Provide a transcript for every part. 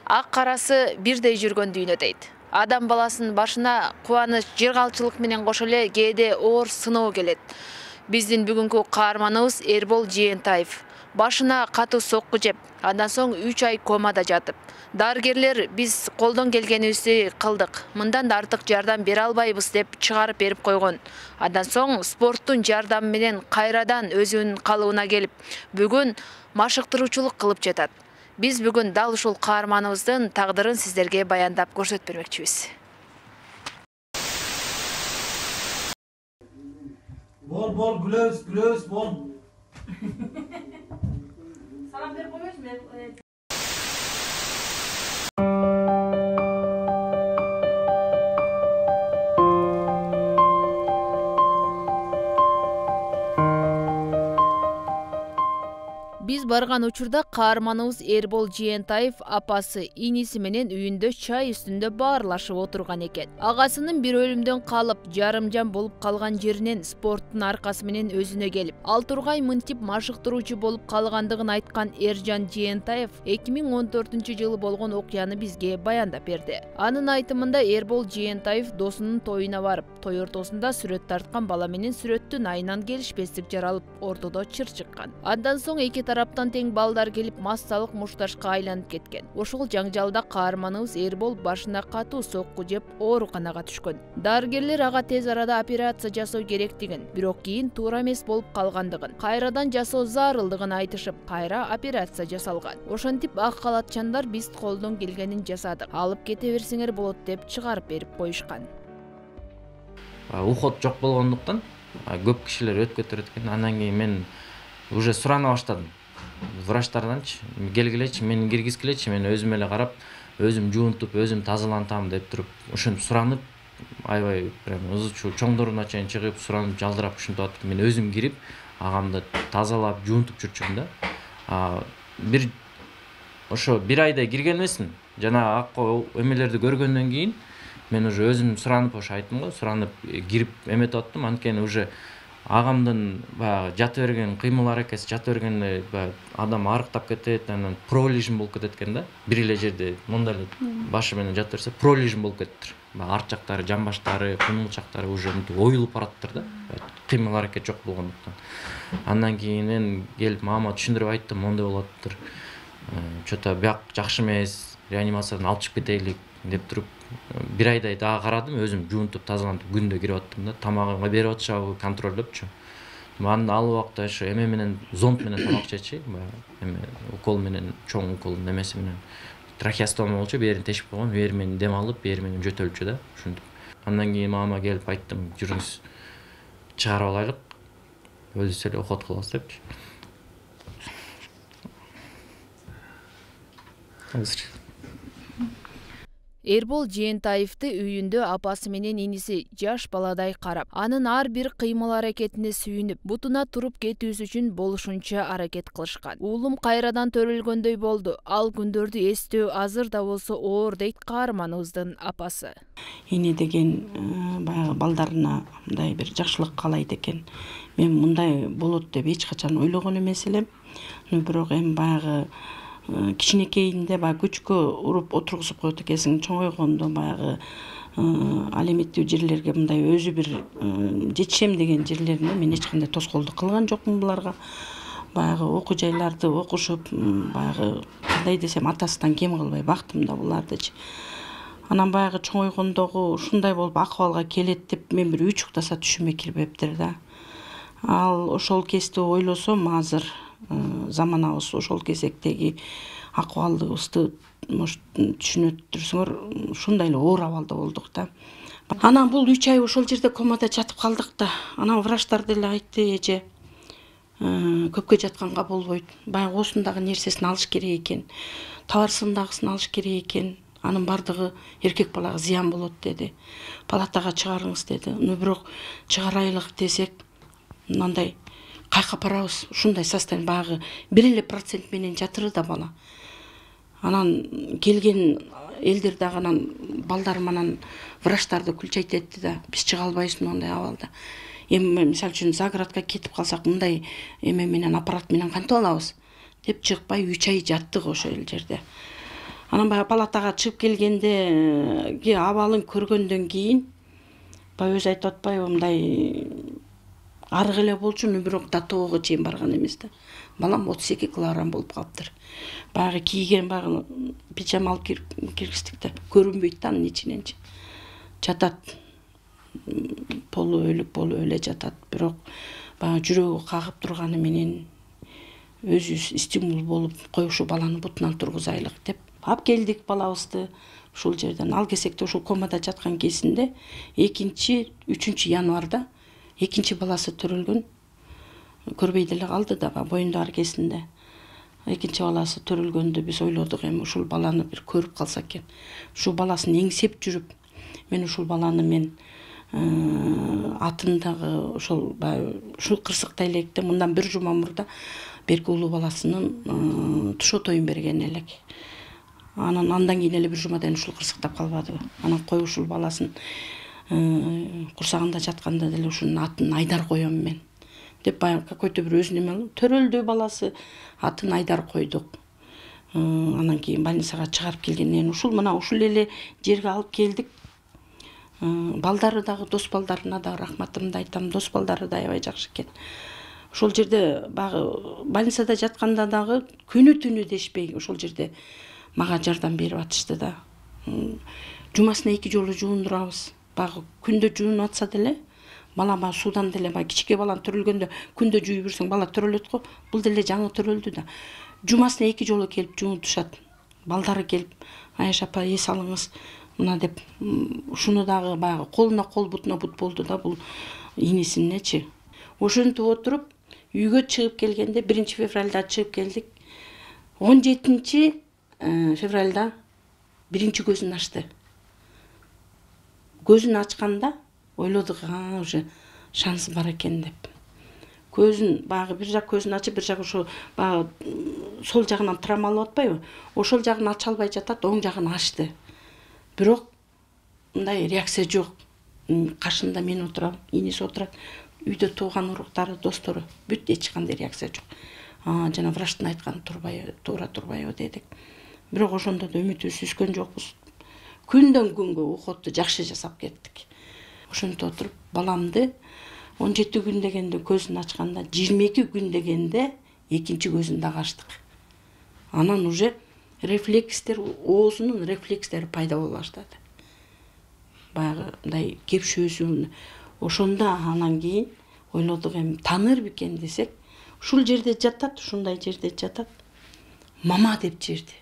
Ак карасы бирдей жүргөн дүйнө дейт. Адам баласынын башына кубаныч, жыргалчылык менен кошо эле кээде оор сыноо келет. Биздин бүгүнкү каарманыбыз Эрбол Жээнтаев. Башына катуу сокку жеп, андан соң 3 ай комада жатып. Дарыгерлер биз колдон келгенибизди кылдык. Мындан да артык жардам бере албайбыз деп чыгарып берип койгон. Андан соң спорттун жардамы менен кайрадан өзүнүн калыбына келип, бүгүн машыктыруучулук кылып жатат. Биз бүгүн дал ушул каарманыбыздын тагдырын сиздерге баяндап көрсөтүп бермекчибиз. Бол, күлөбүз, бол. Салам берип койбойсуңбу? Биз барган учурда каарманыбыз Эрбол Жээнтаев апасы, иниси менен үйүндө чай үстүндө баарлашып отурган экен. Агасынын бир өлүмдөн калып, жарымжан болуп калган жеринен спорттун аркасы менен өзүнө келип, ал тургай мынтип машыктыруучу болуп калгандыгын айткан Эржан Жээнтаев 2014-жылы болгон окуяны бизге баяндап берди. Анын айтымында Эрбол Жээнтаев досунун тоюна барып, той ортосунда сүрөт тарткан бала менен сүрөттүн айынан келишпестик жаралып, ортодо чыр чыккан. Андан соң эки тараптан тең балдар келип, массалык мушташка айланып кеткен. Ошол жаңжалда каарманыбыз Эрбол башына катуу сокку жеп, ооруканага түшкөн. Дарыгерлер ага тез арада операция жасоо керектигин, бирок кийин туура эмес болуп калгандыгын, кайрадан жасоо зарылдыгын айтышып, кайра операция жасалган. Ошентип ак калатчандар биз колдон келгенин жасадык. Алып кете берсеңер болот деп чыгарып берип коюшкан. Уход жок болгондуктан көп кишилер өтүп кетет экен. Андан кийин мен уже сурана баштадым. Врачтарданчы келгилечи, мени киргизгилечи, мен өзүм эле карап, өзүм жуунтуп, өзүм тазалантам деп туруп, ошентип суранып, аябай прям чоңдоруна чейин чыгып, суранып, жалдырап ушинтип атып, мен өзүм кирип, агамды тазалап, жуунтуп жүрчүмүн да. Ошо бир айдай кирген эмесмин. Жана акы эмелерди көргөндөн кийин мен уже өзүм суранып, ошо айттым го, суранып кирип эметип аттым. Анткени уже агамдын баягы жата берген кыймыл аракети, жата бергенде адам арыктап кетет, анан пролижим болуп кетет экен да. Бир эле жерде мондай эле башы менен жата берсе, пролижим болуп кетиптир. Арт жактары, жан баштары, кыймылчактары уже оюлуп бараттыр да. Кыймыл аракет жок болгондуктан. Андан кийин келип мама түшүндүрүп айттым, мондай болуп атыптыр. Чөтө бияк жакшы эмес, реанимациядан алып чыгып кетелик деп туруп, бир айдай дагы карадым, өзүм жуунтуп, тазалантып күндө кирип аттым да. Тамагымга берип атышабы контролдопчу. Ал убакта ошо эме менен, зонд менен тамак жечи, эме укол менен, чоң укол немеси менен трахеостома болчу, бээрин тешип койгон, бери менен дем алып, бери менен жөтөлчү да. Ушинтип. Андан кийин мама келип айттым, жүрүңүз чыгарып алайлык, өзүбүз эле уход кылабыз депчи. Эрбол Жээнтаевди үйүндө апасы менен иниси жаш баладай карап, анын ар бир кыймыл аракетине сүйүнүп, бутуна туруп кетүүсү үчүн болушунча аракет кылышкан. Уулум кайрадан төрөлгөндөй болду. Ал күндөрдү эстөө азыр да болсо оор дейт каарманыбыздын апасы. Эне деген баягы балдарына мындай бир жакшылык каалайт экен. Мен мындай болот деп эч качан ойлогон эмес элем. Бирок эми баягы кичинекейинде баягы күчкө уруп отургузуп коет экенсиң, чоңойгондо баягы ал эметтүү жерлерге мындай өзү бир жетишем деген жерлерине мен эч кандай тоскоолдук кылган жокмун буларга. Баягы окуу жайларды окушуп, баягы кандай десем, атасынан кем кылбай бактым да булардычы. Анан баягы чоңойгондогу ушундай болуп акыбалга келет деп мен бир үчүктаса түшүмө кирбептир да. Ал ошол кезде ойлосом, азыр заманабыз ошол кезектеги акыбалыбызды түшүнөт турсуңар, ушундай эле оор абалда болдук да. Анан бул 3 ай ошол жерде комада жатып калдык да. Анан врачтар деле айтты, эже көпкө жатканга болбойт. Баягы оосундагы нерсесин алыш керек экен, табарсындагысын алыш керек экен. Анын бардыгы эркек балага зыян болот деди. Палатага чыгарыңыз деди. Бирок чыгарайлык десек, мындай кайка барабыз, ушундай состояние, баягы 1% менен жатыры да бала. Анан келген элдер дагы анан балдар менен врачтарды күлчөйт этти да, биз чыга албайбыз мындай абалда. Эми мисалы үчүн загородко кетип калсак, мындай эме менен аппарат менен кантип алабыз деп чыкпай 3 ай жаттык ошол жерде. Анан баягы палатага чыгып келгенде абалын көргөндөн кийин баягы өзү айтып атпайбы, мындай арык эле болчу, бирок до тоого чейин барган эмес да. Балам 32 килограмм болуп калыптыр. Баягы кийген баягы пижама алып киргиздик да, көрүнбөйт да анын ичиненчи. Жатат. Полу өлүп эле жатат. Бирок баягы жүрөгү кагып турганы менен өзүбүз стимул болуп, кой ушу баланы бутунан тургузайлык деп алып келдик балабызды ушул жерден. Ал кезекте ушул комада жаткан кезинде 2-3 январда экинчи баласы төрөлгөн. Көрбөй деле калды да, боюнда аркесинде. Экинчи баласы төрөлгөндө биз ойлодук, эми ушул баланы бир көрүп калса экен. Ушул баласын эңсеп жүрүп, мен ушул баланы атындагы ушул кырсыктай электе мындан бир жума мурда берки улуу баласынын тушоо тоюн берген элек. Андан кийин эле бир жумадан ушул кырсыктап калбадыбы. Анан кой ушул баласын курсагында жатканда деле ушунун атын Айдар коем мен деп баягы какой-то бир өзүнүн эме төрөлдү баласы, атын Айдар койдук. Анан кийин больницага чыгарып келгенден ушул эле жерге алып келдик. Балдары дагы, дос балдарына дагы рахматымды айтам. Дос балдары да аябай жакшы экен. Ошол жерде баягы больницада жатканда дагы күнү-түнү дешпей ошол жерде мага жардам берип атышты да. Жумасына 2 жолу жуундурабыз. Баягы күндө жуунуп атса деле, балама суудан деле баягы кичике баланы төрөлгөндө күндө жууй берсең бала төрөлөт го. Бул деле жаңы төрөлдү да. Жумасына 2 жолу келип жуунтушат. Балдары келип, Аяш апа эс алыңыз мына деп, ушуну дагы баягы колуна кол, бутуна бут болду да бул инисинечи. Ошентип отуруп үйгө чыгып келгенде 1 февралда чыгып келдик. 17 февралда биринчи көзүн ачты. Көзүн ачканда ойлодук, уже шанс бар экен деп. Көзүн баягы бир жак көзүн ачып, бир жак ошо баягы сол жагынан травмалап атпайбы? Ошол жагын ача албай жатат, оң жагын ачты. Бирок мындай реакция жок. Каршында мен отурам, иниси отурат. Үйдө тууган уруктары, достору бүт эч кандай реакция жок. Жана врачтын айтканы туура турбайбы дедик. Бирок ошондо да үмүтүбүздү үзгөн жокпуз. Күндөн күнгө уходду жакшы жасап кеттик. Ошентип отуруп баламды 17 күн дегенде көзүн ачканда, 22 күн дегенде экинчи көзүн дагы ачтык. Анан уже рефлекстер, оозунун рефлекстери пайда боло баштады. Баягы мындай кепшөөсү. Ошондо анан кийин ойлодук, эми таныр бекен десек, ушул жерде жатат, ушундай жерде жатат. Мама деп жерди.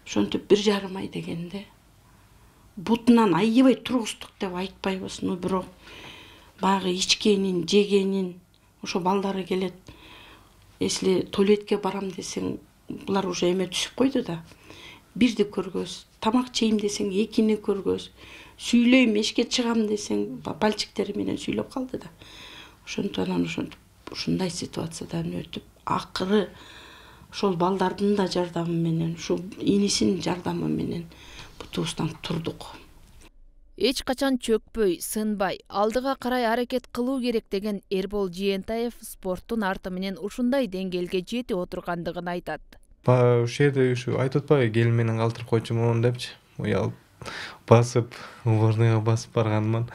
Ошентип 1,5 ай дегенде бутунан аябай тургуздук деп айтпайбыз, бирок баягы ичкенин, жегенин, ошо балдары келет. Если туалетке барам десең, булар уже эме түсүп койду да. Бирди көргөз, тамак жейм десең, экини көргөз, сүйлөйм, эшикке чыгам десең, пальчиктери менен сүйлөп калды да. Ошентип анан ушундай ситуациядан өтүп, акыры ошол балдардын да жардамы менен, ушул инисинин жардамы менен бутубуздан турдук. Эч качан чөкпөй, сынбай, алдыга карай аракет кылуу керек деген Эрбол Жыентаев спорттун арты менен ушундай деңгээлге жетип отургандыгын айтат. Ушул жерде айтып атпайбы, келин менен калтырып койчумун депчи. Уялып басып, уборныйга басып барганмын.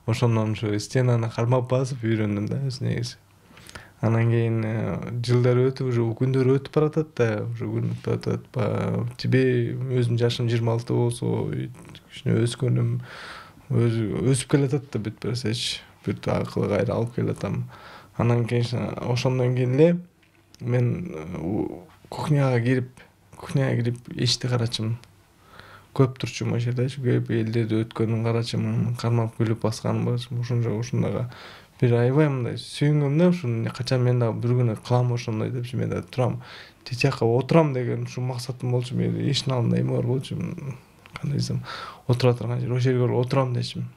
Ошондон ушу стенаны кармап басып үйрөндүм да өз негизи. Анан кийин жылдар өтүп, уже күндөр өтүп баратат да, уже күн өтүп атат. Тебе өзүмдүн жашым 26 болсо, кичине өскөнүм, өсүп келатат да бүт берсечи, бүт акылы кайра алып келатам. Анан кийин ошондон кийин эле мен кухняга кирип эшикти карачымын. Көп турчумун ошол жердечи, көп элдерди өткөнүн карачымын, кармап күлүп басканым бар. Ошондого бир аябай мындай сүйүнгөм да, ушуну качан мен дагы бир күнү кылам ошондой депчи, мен да турам, тик жакка отурам деген ушу максатым болчу. Мен эшиктин алдында эме бар болчу, кандай десем, отура турган жер, ошол жерге отурам дечим.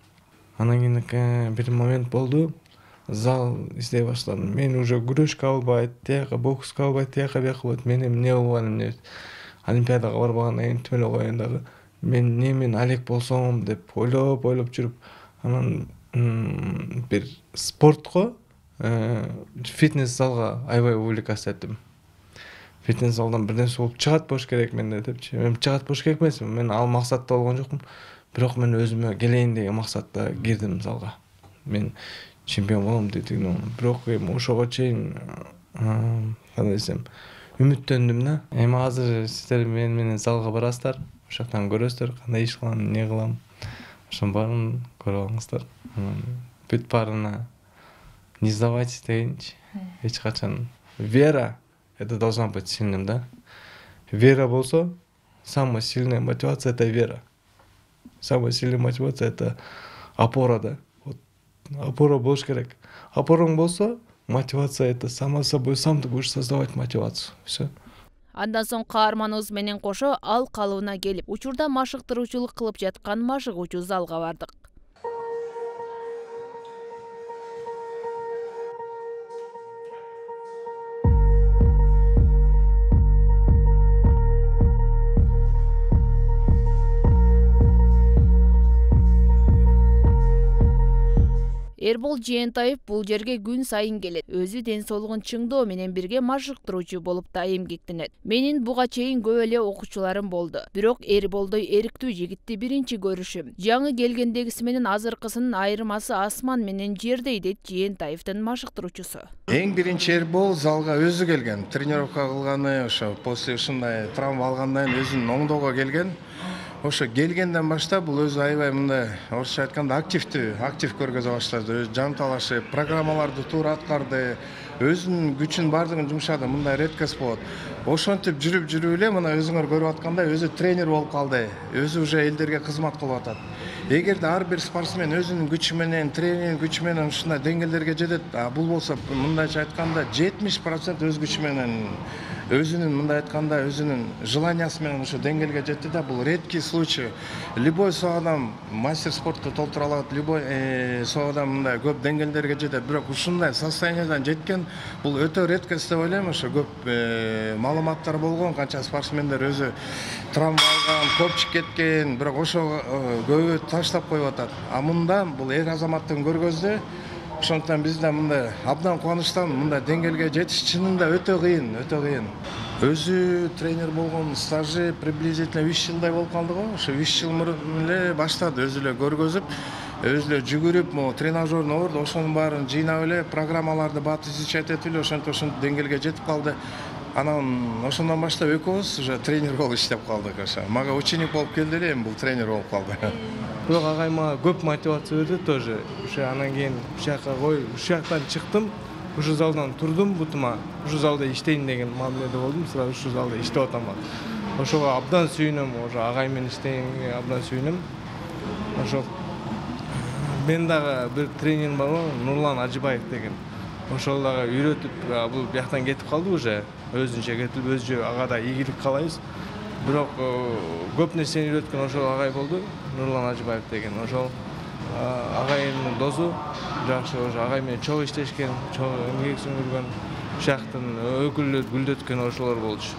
Анан кийин бир момент болду, зал издей баштадым. Мен уже күрөшкө албайт, тияка бокска албайт, тияка бияка болот. Мен эми эмне болгонум эмне? Олимпиадага барбагандан кийин тим эле коеюн дагы. Мен немен алек болсом деп ойлоп жүрүп, анан бир спортко, фитнес залга аябай увлекаться эттим. фитнес залдан бир нерсе болуп чыгат болуш керек менде депчи. Мен чыгат болуш керек эмесмин. Мен ал максатта болгон жокмун. Бирок мен өзүмө келейин деген максатта кирдим залга. Мен чемпион болом дедим. Бирок ошого чейин кандай десем, үмүттөндүм да. Эми азыр сиздер менен залга барасыздар. Ошол жактан көрөсүздөр кандай иш кылам, эмне кылам. Ошонун баарын көрүп алыңыздар. Бүт баарына не сдавайтесь дегенчи. Эч качан вера это должна быть сильным, да? Вера болсо, самая сильная мотивация это вера. Самая сильная мотивация это опора, да? Вот опора болуш керек. Опораң болсо, мотивация это сама собой, сам ты будешь создавать мотивацию. Всё. Андан соң каарманыбыз менен кошо ал калыбына келип, учурда машыктыруучулук кылып жаткан машыгуучу залга бардык. Эрбол Жээнтаев бул жерге күн сайын келет. Өзү ден соолугун чыңдоо менен бирге машыктыруучу болуп да эмгектенет. Менин буга чейин көп эле окуучуларым болду. Бирок Эрболдой эриктүү жигитти биринчи көрүшүм. Жаңы келгендегиси менен азыркысынын айырмасы асман менен жердей, дейт Жээнтаевдин машыктыруучусу. Эң биринчи Эрбол залга өзү келген. Тренировка кылганы, ошо после ушундай травма алгандан кийин өзүнүн оңдоого келген. Ошо келгенден баштап бул өзү аябай мындай орусча айтканда актив көргөзө баштады. Жан талашып, программаларды туура аткарды, өзүнүн күчүн бардыгын жумшады. Мындай редкость болот. Ошентип жүрүп эле мына өзүңөр көрүп аткандай өзү тренер болуп калды. Өзү уже элдерге кызмат кылып атат. Эгерде ар бир спортсмен өзүнүн күчү менен, тренинг күчү менен ушундай деңгээлдерге жетет, бул болсо мындайча айтканда 70% өз күчү менен, өзүнүн мындай айтканда өзүнүн желаниясы менен ошо деңгээлге жетти да, бул редкий случай. Любой со адам мастер спортто толтура алат, любой со адам мындай көп деңгээлдерге жетет, бирок ушундай состояниядан жеткен бул өтө редкость деп ойлойм. Ошо көп маалыматтар болгон, канча спортсмендер өзү травма алган, копчук кеткен, бирок ошо көбү таштап коюп атат. А мында бул эр азаматтын көргөздө. Ошондуктан биз да мындай абдан кубанычтамын. Мындай деңгээлге жетиш чынында өтө кыйын, өтө кыйын. Өзү тренер болгон стажы приблизительно 3 жылдай болуп калды го. Ошо 3 жыл мурун эле баштады, өзү эле көргөзүп, өзү эле жүгүрүп, тренажерный орду, ошонун баарын жыйнап эле, программаларды бат изучать этип эле ошентип деңгээлге жетип калды. Анан ошондон баштап экөөбүз уже тренер болуп иштеп калдык. Мага ученик болуп келди эле, эми бул тренер болуп калды. Бирок агай мага көп мотивация берди тоже. Ошо анан кийин ушакка ушул жактан чыктым, ушул залдан турдум, бутума ушул залда иштейин деген мамиледе болдум. Сразу ушул залда иштеп атам. Ошого абдан сүйүнөм, ошо агай менен иштегенге абдан сүйүнөм. Ошо мен дагы бир тренерим бар го, Нурлан Ажыбаев деген. Ошол дагы үйрөтүп, бул бияктан кетип калды уже. Өзүнчө кетип, өзү ага да ийгилик каалайбыз. Бирок көп нерсени үйрөткөн ошол агай болду, Нурлан Ажыбаев деген. Ошол агайдын досу жакшы, ошо агай менен чогуу иштешкен, чогуу эмгек сиңирген, шактын өкүлдөрү гүлдөткөн ошолор болчу.